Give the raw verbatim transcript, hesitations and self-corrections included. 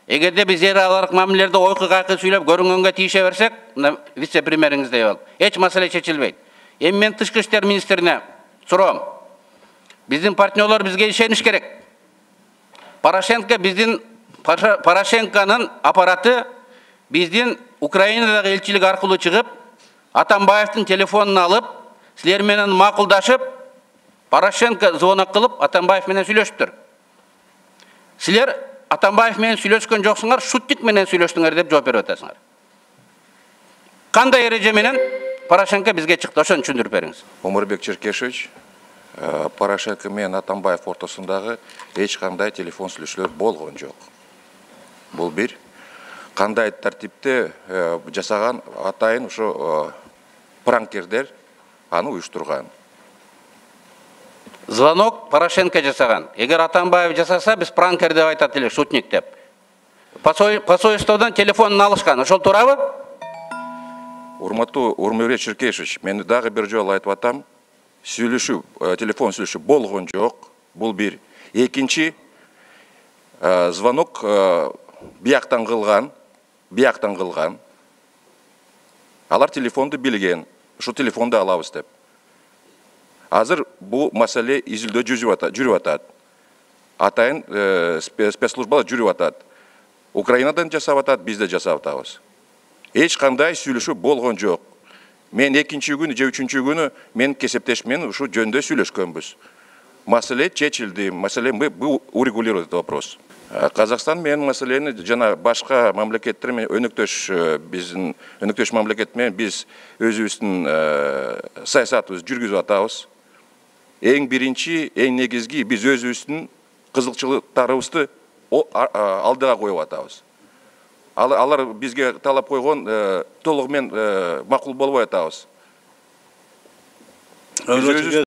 Эгерде биз эр аларык мамилелерде ойкы кайкы сүйлөп көрүнгөнгө тийише берсек, вице-премьериңиздей болуп, эч маселе чечилбейт. Эми мен тышкы иштер министрине суроом. Биздин партнерлор бизге ишениш керек. Порошенко биздин Порошенконун аппараты биздин Украинадагы элчилик аркылуу чыгып, Атамбаевдин телефонун алып, силер менен макулдашып, Порошенко звонок кылып, Атамбаев менен сүйлөшүптүр. Силер Атамбаев менен сүйлөшкөн жоксуңар, шутник менен сүйлөштүңөр деп жооп берип атасыңар. Кандай эреже менен Порошенко бизге чыкты, ошону түшүндүрүп бериңиз. Омурбек Черкешевич, Порошенко менен Атамбаев ортосундагы эч кандай телефон сүйлөшүүлөр болгон жок. Бул бир. Кандай тартипте жасаган атайын ошо пранкердер аны уюштурган. Звонок Порошенко жасаган. Эгер Атамбаев жасаса, биз пранкер деп айтат эле, шутник деп. Посольстводон телефонун алышкан, ошол туурабы? Урматтуу Омурбек Черкешевич, мен дагы бир жолу айтып атам, сүйлөшүү, телефон сүйлөшүү болгон жок. Бул бир. Экинчи, звонок бияктан кылган, бияктан кылган. Алар телефонду билген, ушу телефонду алабыз деп. Азыр бул маселе изилдөө жүрүп атат. Атайын спецслужбалар жүрүп атат. Украинадан жасап атат, биз де жасап атабыз. Эч кандай сүйлөшүү болгон жок. Мен экинчи күнү же үчүнчү күнү мен кесептеш менен ушу жөндө сүйлөшкөнбүз. Маселе чечилди, маселе мы урегулировали этот вопрос. Казакстан менен маселени жана башка мамлекеттер менен өнөктөш биздин өнөктөш мамлекет менен биз өзүбүздүн саясатыбызды жүргүзүп атабыз. Эң биринчи, эң негизги биз өзүбүздүн кызыкчылыктарыбызды алдыга коюп атабыз. Алар бизге талап койгон толугу менен макул болбой атабыз.